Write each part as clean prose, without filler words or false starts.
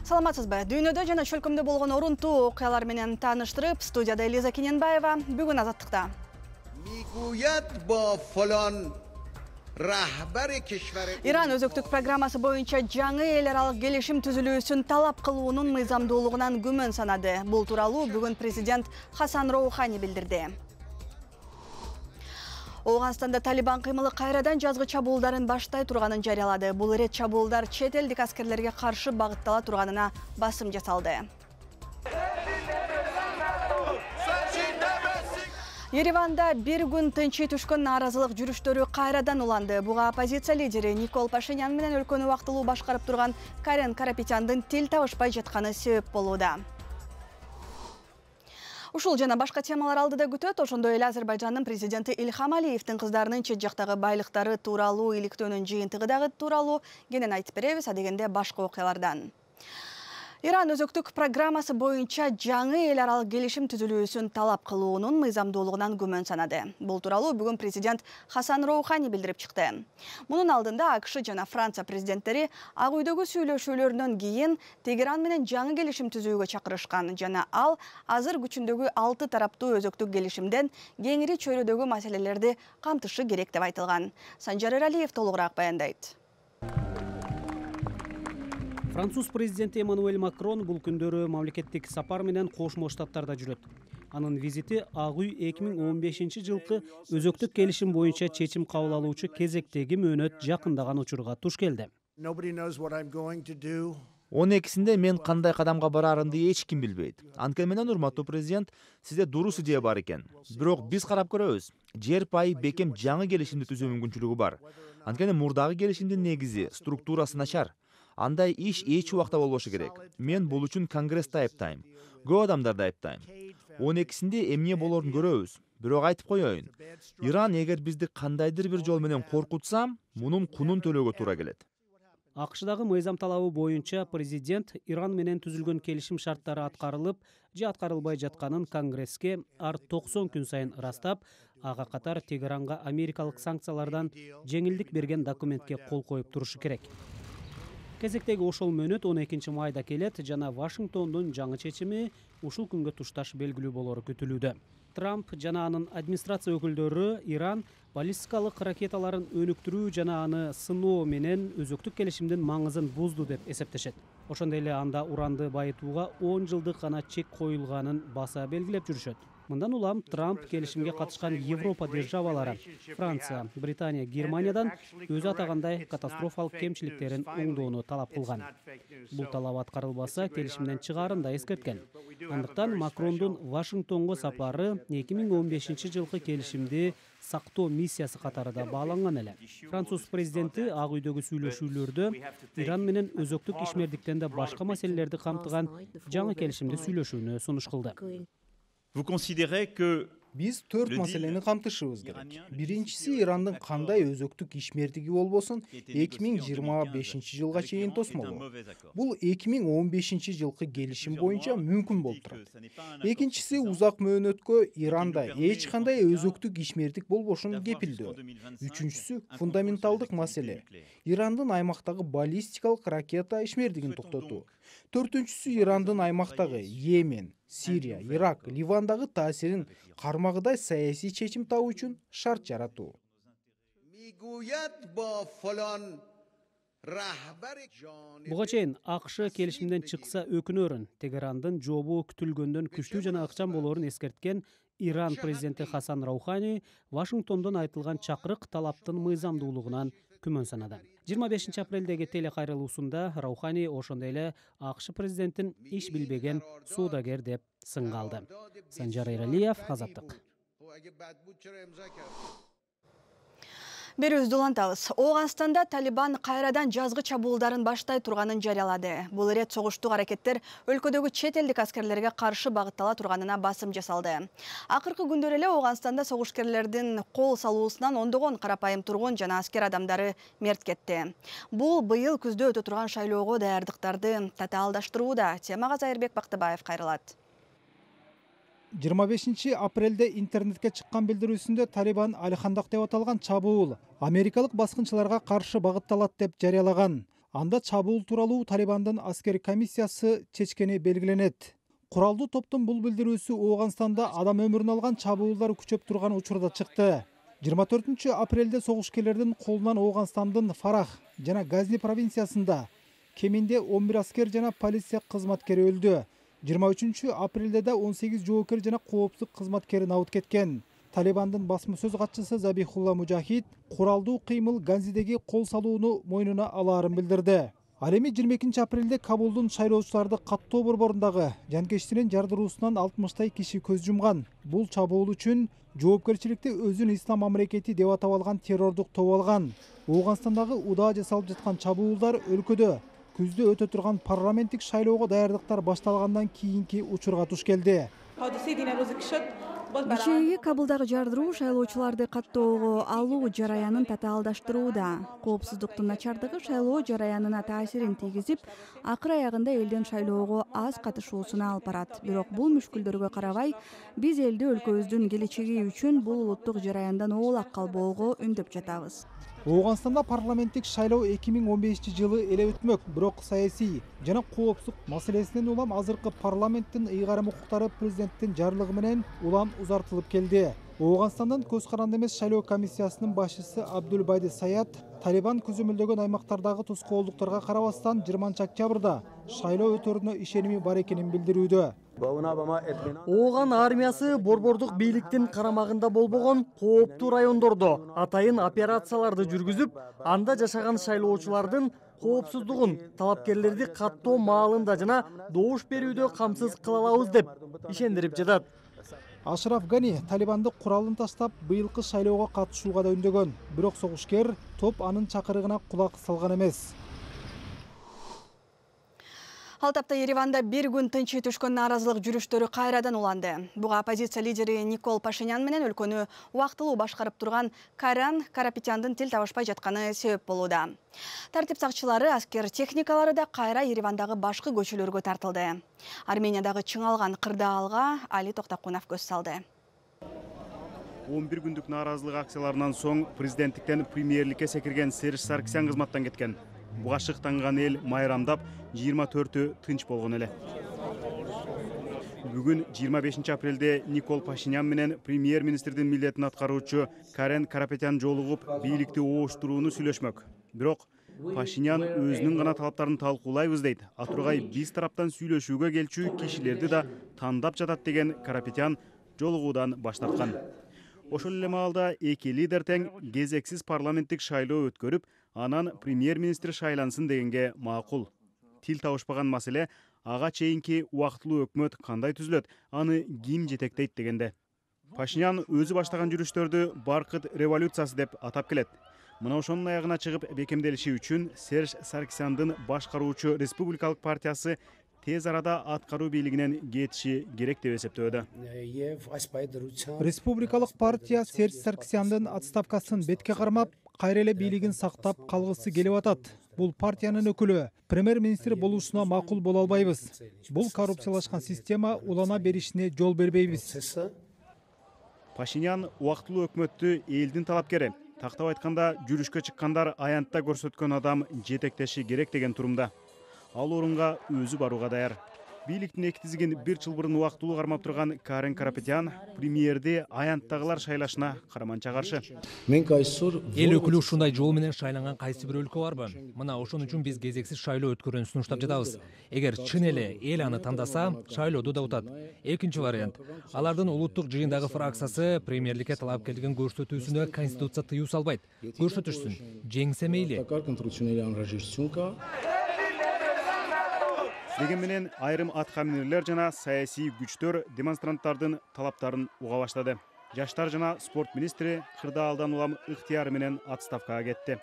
Саламатсызбы? Дүйнөдө жана чөлкөмдө болгон орунтуу окуялар менен тааныштырып, студияда Элиза Кененбаева, бүгүн Азаттыкта. Иран өзөктүк программасы боюнча жаңы эл аралык келишим түзүлүүсүн талап кылуунун мыйзамдуулугунан күмөн санады. Бул тууралуу бүгүн президент Хасан Роухани билдирди. Оғанстанда Талибан кыймылы кайрадан жазгы чабуулдарын баштай турганын жарыялады. Бул ирет чабуулдар чет элдик аскерлерге каршы багыттала турганына басым жасалды. Ереванда бир күн тынчый түшкөн нааразылык жүрүштөрү кайрадан уланды. Буга оппозиция лидери Никол Пашинян менен өлкөнү убактылуу башкарып турган Карен Карапетяндын тил табышпай жатканы себеп болууда. Ушул жана башка темалар алдыда күтөт. Ошондой эле Азербайжандын президенти Ильхам Алиевдин кыздарынын чет жактагы байлыктары тууралуу иликтөөнүн жыйынтыгы дагы тууралуу кенен айтып беребиз, адегенде башка окуялардан. Иран өзөктүк программасы боюнча жаңы эл аралык келишим түзүлүүсүн талап кылуунун мыйзамдуулугунан күмөн санады. Бул тууралуу бүгүн президент Хасан Роухани билдирип чыкты. Мунун алдында АКШ жана Франция президенттери Ак үйдөгү сүйлөшүүлөрдөн кийин Тегеран менен жаңы келишим түзүүгө чакырышкан жана ал азыр күчүндөгү 6 тараптуу өзөктүк келишимден кеңири чөйрөдөгү маселелерди камтышы керек деп айтылган. Санжар Эралиев толугураак баяндайт. Француз президенти Эммануэль Макрон бул күндөрү мамлекеттик сапар менен Кошмо Штаттарда жүрөт. Анын визити Ак үй 2015-жылкы өзөктүк келишим боюнча чечим кабыл алуучу кезектеги мөөнөт жакындаган учурга туш келди. 12-синде мен кандай кадамга барарымды эч ким билбейт. Анткени менен урматтуу президент, сизде дурус идея бар экен. Бирок биз карап көрөбүз. Жер пайы бекем жаңы келишимди түзүү мүмкүнчүлүгү бар. Анткени мурдагы келишимдин негизи, структурасы начар. Андай иш эч убакта болбошу керек. Мен бул үчүн Конгрессти айыптайм. Көп адамдарды айыптайм. 12-синде эмне болорун көрөбүз. Бирок айтып коеюн. Иран эгер бизди кандайдыр бир жол менен коркутса, мунун кунун төлөөгө туура келет. АКШдагы мыйзам талабы боюнча президент Иран менен түзүлгөн келишим шарттары аткарылып же аткарылбай жатканын Конгресске ар 90 күн сайын ырастап, ага катар Тегеранга америкалык санкциялардан жеңилдик берген документке кол коюп турушу керек. Кезектеги ошол мөөнөт 12 майда келет жана Вашингтондун жаңы чечими ушул күнгө тушташ белгилүү болору күтүлүүдө. Трамп жана анын администрация өкүлдөрү Иран баллистикалык ракеталарын өнүктүрүү жана аны сыноо менен өзөктүк келишимдин маңызын бузду деп эсептешет. Ошондой эле анда уранды байытууга 10 жылдык гана чек коюлганын баса белгилеп жүрүшөт. Мындан улам Трамп келишимге катышкан Европа державалары Франция, Британия, Германиядан өзү атагандай катастрофалык кемчиликтерин оңдоону талап кылган. Бул талап аткарылбаса, келишимден чыгаарын да эскерткен. Андыктан Макрондун Вашингтонго сапары 2015-жылкы келишимди сактоо миссиясы катарында бааланган эле. Француз президенти Ак үйдөгү сүйлөшүүлөрдө Иран менен өзөктүк ишмердиктен да башка маселелерди камтыган жаңы келишимди сүйлөшүүнү сунуш кылды. Биз 4 маселени камтышыбыз керек. Биринчиси, Ирандын кандай өзөктүк ишмердиги болбосун 2025-жылга чейин тосмолу. Бул 2015-жылкы келишим боюнча мүмкүн болуп турат. Экинчиси, узак мөөнөткө Иранда эч кандай өзөктүк ишмердик болбошун кепилдөө. Үчүнчүсү, фундаменталдык маселе. Ирандын аймактагы баллистикалык ракета ишмердигин токтотуу. Төртүнчүсү, Ирандын аймактагы Йемен, Сирия, Ирак, Ливандагы таасирин кармагыдай саясий чечим табуу үчүн шарт жаратуу. Буга чейин АКШ келишимден чыкса өкүнөрүн, Тегерандын жообу күтүлгөндөн күчтүү жана ыкчам болоорун эскерткен Иран президенти Хасан Роухани Вашингтондон айтылган чакырык талаптын мыйзамдуулугунан күмөн санады. 25 апрелдеги телекайрылуусунда Роухани ошондой эле АКШ президентин иш билбеген соодагер деп сынга алды. Санжар Эралиев, Азаттык. Берүүбүздү улантабыз. Оғанстанда Талибан кайрадан жазгы чабуулдарын баштай турганын жарыялады. Бул ирет согуштук аракеттер өлкөдөгү чет элдик аскерлерге каршы багыттала турганына басым жасалды. Акыркы күндөр эле Оғанстанда согушкерлердин кол салуусунан ондогон карапайым тургун жана аскер адамдары мерт кетти. Бул быйыл күздө өтө турган шайлоого даярдыктарды татаалдаштырууда. Темага Зайырбек Бактыбаев кайрылат. 25 апрелде интернетке чыккан билдирүүсүндө Талибан Алихандак деп аталган чабуул америкалык баскынчыларга каршы багытталат деп жарыялаган. Анда чабуул тууралуу Талибандын аскер комиссиясы чечкени белгиленет. Куралдуу топтун бул билдирүүсү Ооганстанда адам өмүрүн алган чабуулдар күчөп турган учурда чыкты. 24 апрелде согушкерлердин колунан Ооганстандын Фарах жана Газни провинциясында кеминде 11 аскер жана полиция кызматкери өлдү. 23 апрелде да 18 жоокер жана коопсуздук кызматкери набыт кеткен. Талибандын басма сөз катчысы Забихулла Мужахид куралдуу кыймыл Ганзидеги кол салууну мойнуна алаарын билдирди. Ал эми 22 апрелде Кабулдун шайлоочуларды каттоо борборундагы жанкечтинин жардыруусунан 60 киши көз жумган. Бул чабуул үчүн жоопкерчиликти өзүн ислам мамлекети деп атап алган террордук топ алган. Ооганстандагы удаа жасалып жаткан чабуулдар өлкөдө күздө өтө турган парламенттик шайлоого даярдыктар башталгандан кийинки учурга туш келди. Кичээги Кабулдагы жардыруу шайлоочуларды каттоого алуу жараянын татаалдаштырууда. Коопсуздуктун начардыгы шайлоо жараянына таасирин тийгизип, акыр аягында элдин шайлоого аз катышуусуна алып барат. Бирок бул мүшкүлдөргө карабай, биз элди өлкөбүздүн келечеги үчүн бул улуттук жараяндан оолак калбоого үндөп жатабыз. Ооганстанда парламенттик шайлоо 2015 жылы эле өтмөк, бирок саясий жана коопсуздук маселесинен улам азыркы парламенттин ыйгарым укуктары президенттин жарлыгы менен улам узартылып келди. Ооганстандын көз каранды эмес шайлоо комиссиясынын башчысы Абдулбайди Саят Талибан көзөмөлдөгөн аймактардагы тоскоолдуктарга карабастан 20 октябрда шайлоо өтөрүнө ишеними бар экенин билдирүүдө. Ооган армиясы борбордук бийликтин карамагында болбогон кооптуу райондордо атайын операцияларды жүргүзүп, анда жашаган шайлоочулардын коопсуздугун, талапкерлерди каттоо маалында жана добуш берүүдө камсыз кыла алабыз деп ишендирип жатат. Ашраф Гани Талибанды куралын таштап быйылкы шайлоого катышууга да үндөгөн. Бирок согушкер топ анын чакырыгына кулак салган эмес. Ал тапта Ереванда бир күн тынчы түшкөн нааразылык жүрүштөрү кайрадан уланды. Буга оппозиция лидери Никол Пашинян менен өлкөнү убактылуу башкарып турган Карен Карапетяндын тил табышпай жатканы себеп болууда. Тартип сакчылары, аскер техникалары да кайра Еревандагы башкы көчөлөргө тартылды. Армениядагы чыңалган кырдаалга Али Токтакунов көз салды. 11 күндүк нааразылык акцияларынан соң президенттиктен премьерликке секирген Серж Саркисян кызматтан кеткен. Буга шыктанган эл майрамдап, 24-ө тынч болгон эле. Бүгүн 25 апрелде Никол Пашинян менен премьер-министрдин милдетин аткаруучу Карен Карапетян жолугуп, бийликти ооштурууну сүйлөшмөк. Бирок Пашинян өзүнүн гана талаптарын талкуулайбыз дейт. Атургай биз тараптан сүйлөшүүгө келчү кишилерди да тандап жатат деген Карапетян жолугуудан баш тарткан. Ошол эле маалда эки лидер тең кезексиз парламенттик шайлоо өткөрүп, анан премьер-министр шайлансын дегенге макул. Тил табышпаган маселе ага чейинки убактылуу өкмөт кандай түзүлөт, аны ким жетектейт дегенде. Пашинян өзү баштаган жүрүштөрдү баркыт революциясы деп атап келет. Мына ошонун аягына чыгып бекемделиши үчүн Серж Саркисяндын башкаруучу Республикалык партиясы тез арада аткаруу бийлигинен кетиши керек деп эсептөөдө. Республикалык партия Серж Саркисяндын отставкасын бетке кармап, кайра эле бийлигин сактап калгысы келип атат. Бул партиянын өкүлү, премьер-министр болушуна макул боло албайбыз. Бул коррупциялашкан система улана беришине жол бербейбиз. Пашинян убактылуу өкмөттү элдин талапкери, тактап айтканда жүрүшкө чыккандар аянтта көрсөткөн адам жетектеши керек деген турумда. Ал орунга өзү барууга даяр. Бийликтин эки тизигин бир жыл бурун убактылуу кармап турган Карен Карапетян премьерди аянттагылар шайлашына караманча каршы. Эл өкүлү ушундай жол менен шайланган кайсы бир өлкө барбы? Мына ошон үчүн биз кезексиз шайлоо өткөрүүнү сунуштап жатабыз. Эгер чын эле эл аны тандаса, шайлоодо да утат. Экинчи вариант. Алардын улуттук жыйындагы фракциясы премьерликке талапкерлигин көрсөтүүсүнө конституция тыюу салбайт. Көрсөтүшсүн. Жеңсе мейли. Деген менен айрым аткаминерлер жана саясий күчтөр демонстранттардын талаптарын уга баштады. Жаштар жана спорт министри кырдаалдан улам ыктыяры менен отставкага кетти.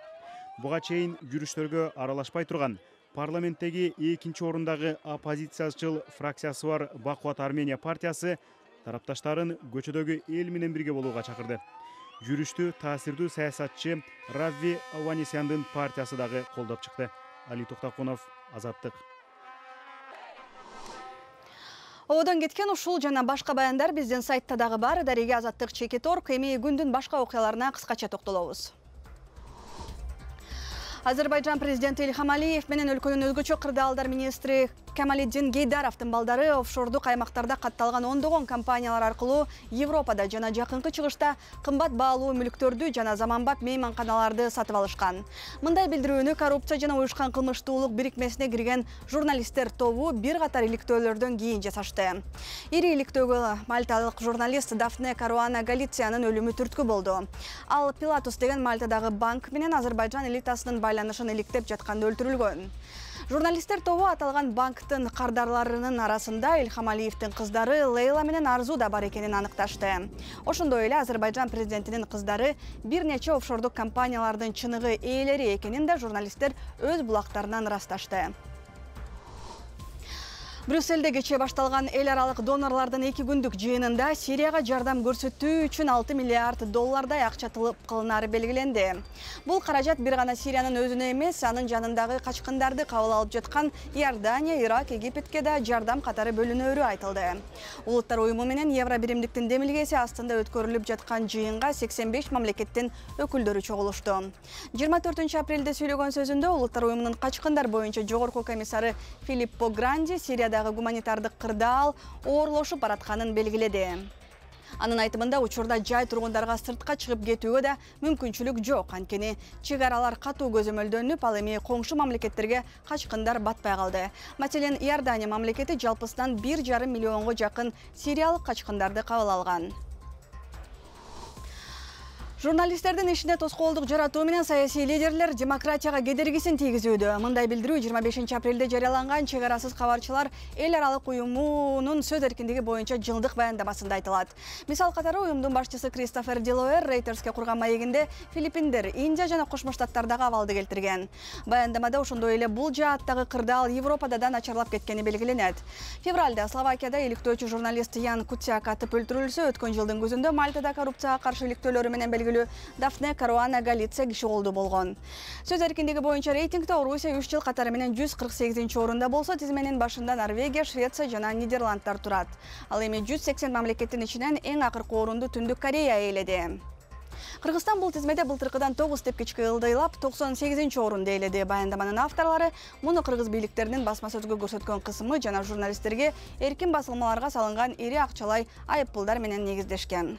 Буга чейин жүрүштөргө аралашпай турган парламенттеги экинчи орундагы оппозициячыл фракциясы бар Бакуат Армения партиясы тарапташтарын көчөдөгү эл менен бирге болууга чакырды. Жүрүштү таасирдүү саясатчы Равви Аванесяндын партиясы дагы колдоп чыкты. Али Токтакунов, Азаттык. Оодон кеткен ушул жана башка баяндар биздин сайтта дагы бар. Дареге Азаттык Чекит Орг. Эми күндүн башка окуяларына кыскача токтолобуз. Азербайжан президенти Ильхам Алиев менен өлкөнүн өзгөчө кырдаалдар министри Камалиддин Гейдаровдун балдары офшордук аймактарда катталган ондогон компаниялар аркылуу Европада жана жакынкы чыгышта кымбат баалуу мүлктөрдү жана заманбап мейманканаларды сатып алышкан. Мындай билдирүүнү коррупция жана уюшкан кылмыштуулук бирикмесине кирген журналисттер тобу бир катар иликтөөлөрдөн кийин жасашты. Ири иликтөөгө мальталык журналист Дафне Каруана Галициянын өлүмү түрткү болду. Ал Пилатус деген Мальтадагы банк менен Азербайжан элитасынын байланышын иликтеп жатканда өлтүрүлгөн. Журналисттер тобу аталган банктын кардарларынын арасында Ильхам Алиевдин кыздары Лейла менен Арзу да бар экенин аныкташты. Ошондой эле Азербайжан президентинин кыздары бир нече офшордук компаниялардын чыныгы ээлери экенин да журналисттер өз булактарынан ырасташты. Брюсселде кечээ башталган эл аралык донорлордун 2 күндүк жыйынында Сирияга жардам көрсөтүү үчүн 6 миллиард доллардай акча талап кылынары белгиленди. Бул каражат бир гана Сириянын өзүнө эмес, анын жанындагы качкындарды кабыл алып жаткан Иордания, Ирак, Египетке да жардам катары бөлүнөрү айтылды. Улуттар уюму менен Евро биримдиктин демилгеси астында өткөрүлүп жаткан жыйынга 85 мамлекеттин өкүлдөрү чогулушту. 24 апрелде сүйлөгөн сөзүндө Улуттар уюмунун качкындар боюнча жогорку комиссары Филиппо Гранди Сирияда гуманитардык кырдаал оорлошуп баратканын белгиледи. Анын айтымында учурда жай тургундарга сыртка чыгып кетүүгө да мүмкүнчүлүк жок. Анткени чек аралар катуу көзөмөлдөнүп, ал эми коңшу мамлекеттерге качкындар батпай калды. Маселен, Иордания мамлекети жалпысынан 1,5 миллионго жакын сириялык качкындарды кабыл алган. Журналисттердин ишине тоскоолдук жаратуу менен саясий лидерлер демократияга кедергисин тийгизүүдө. Мындай билдирүү 25 апрелде жарыяланган чек арасыз кабарчылар эл аралык уюмунун сөз эркиндиги боюнча жылдык баяндамасында айтылат. Мисал катары уюмдун башчысы Кристофер Дилоер Рейтерске курган маегинде Филиппиндер, Индия жана Кошмо Штаттардагы абалды келтирген. Баяндамада ошондой эле бул жааттагы кырдаал Европада да начарлап кеткени белгиленет. Февралда Словакияда иликтөөчү журналист Ян Куцяк атып өлтүрүлсө, өткөн жылдын күзүндө Мальтада коррупцияга каршы иликтөөлөрү менен белгилүү Дафне Каруана Галиция киши колду болгон. Сөз эркиндиги боюнча рейтингде Орусия 3 жыл катары менен 148-орунда болсо, тизменин башында Норвегия, Швеция жана Нидерландтар турат. Ал эми 180 мамлекеттин ичинен эң акыркы орунду Түндүк Корея ээледи. Кыргызстан бул тизмеде былтыркыдан 9 тепкичке ылдыйлап 98-орунду ээледи. Баяндаманын авторлору муну кыргыз бийликтеринин басма сөзгө көрсөткөн кысымы жана журналисттерге эркин басылмаларга салынган ири акчалай айыппулдар менен негиздешкен.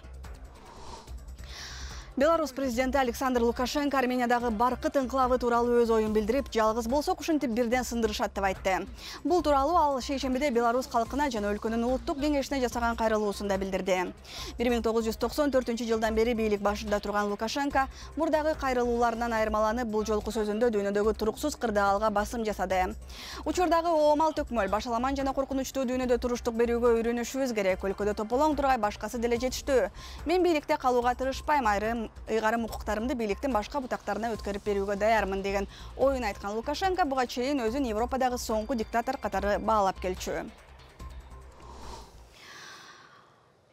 Беларусь президенти Александр Лукашенко Армениядагы Баркыт энклавы тууралуу өз оюн билдирип, жалгыз болсок ушинтип бирден сындырышат деп айтты. Бул тууралуу ал шейшембиде Беларусь калкына жана өлкөнүн улуттук кеңешине жасаган кайрылуусунда билдирди. 1994-жылдан бери бийлик башында турган Лукашенко мурдагы кайрылууларынан айырмаланып, бул жолку сөзүндө дүйнөдөгү туруксуз кырдаалга басым жасады. Учурдагы оомал төкмөл, башаламан жана коркунучтуу дүйнөдө туруштук берүүгө үйрөнүшүбүз керек. Өлкөдө тополоң тургай башкасы деле жетиштүү. Мен бийликте калууга тырышпайм, ыйгарым укуктарымды бийликтин башка бутактарына өткөрүп берүүгө даярмын деген оюн айткан Лукашенко буга чейин өзүн Европадагы соңку диктатор катары баалап келчү.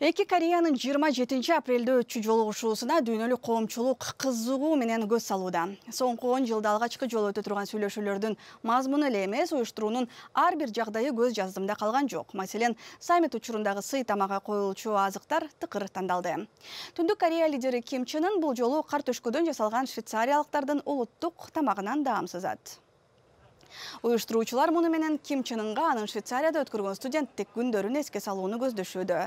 Эки Кореянын 27 апрелде өтчү жолугушуусуна дүйнөлүк коомчулук кызыгуу менен көз салууда. Соңку 10 жылда алгачкы жолу өтө турган сүйлөшүүлөрдүн мазмуну эле эмес, уюштуруунун ар бир жагдайы көз жаздымда калган жок. Маселен, саммит учурундагы сый тамакка коюлчу азыктар тыкыр тандалды. Түндүк Корея лидери Ким Чен Ын бул жолу кар төшкөдөн жасалган швейцариялыктардын улуттук тамагынан даамсызат. Уюштуруучулар муну менен Ким Чен Ынга анын Швейцарияда өткөргөн студенттик күндөрүн эске салууну көздөшүүдө.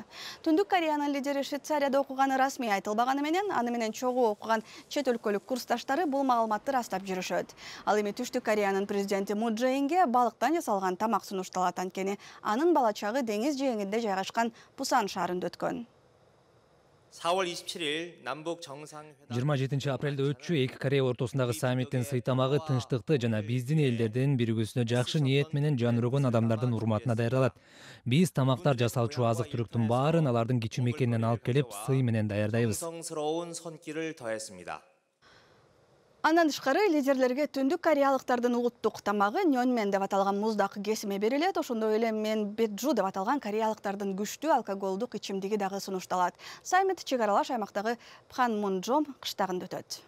Түндүк Кореянын лидери Швейцарияда окуганы расмий айтылбаганы менен, аны менен чогуу окуган чет өлкөлүк курсташтары бул маалыматты растап жүрүшөт. Ал эми Түштүк Кореянын президенти Мун Чже Инге балыктан жасалган тамак сунушталат, анткени анын бала чагы деңиз жээгинде жайгашкан Пусан шаарында өткөн. 4월 27일 남북 정상회담 27 апрелде өтчү эки Корея ортосундагы саммиттин сый тамагы тынчтыкты жана биздин элдердин биригүүсүнө жакшы ниет менен жан өргөн адамдардын урматына даярдалат. Биз тамактар жасалчу азык-түлүктүн баарын алардын кичи мекенинен алып келип, сый менен даярдайбыз. 성스러운 손길을 더했습니다. Андан тышкары лидерлерге Түндүк кореялыктардын улуттук тамагы нёнмен деп аталган муздак кесиме берилет. Ошондой эле менбеджу деп аталган кореялыктардын күчтүү алкоголдук ичимдиги дагы сунушталат. Саммит чек аралаш аймактагы Пханмунджом кыштагында өтөт.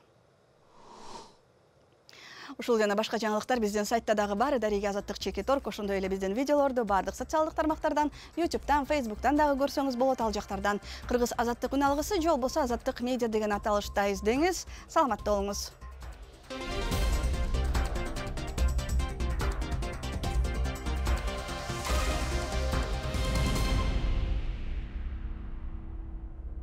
Ушул жана башка жаңылыктар биздин сайтта дагы бар. Дарига Азаттык Чекиторг. Ошондой эле биздин видеолорду бардык социалдык тармактардан, YouTube'дан, Facebook'тан дагы көрсөңүз болот. Ал жактардан Кыргыз Азаттык үн алгысы же болбосо Азаттык медиа деген аталышта издеңиз. Саламатта болуңуз.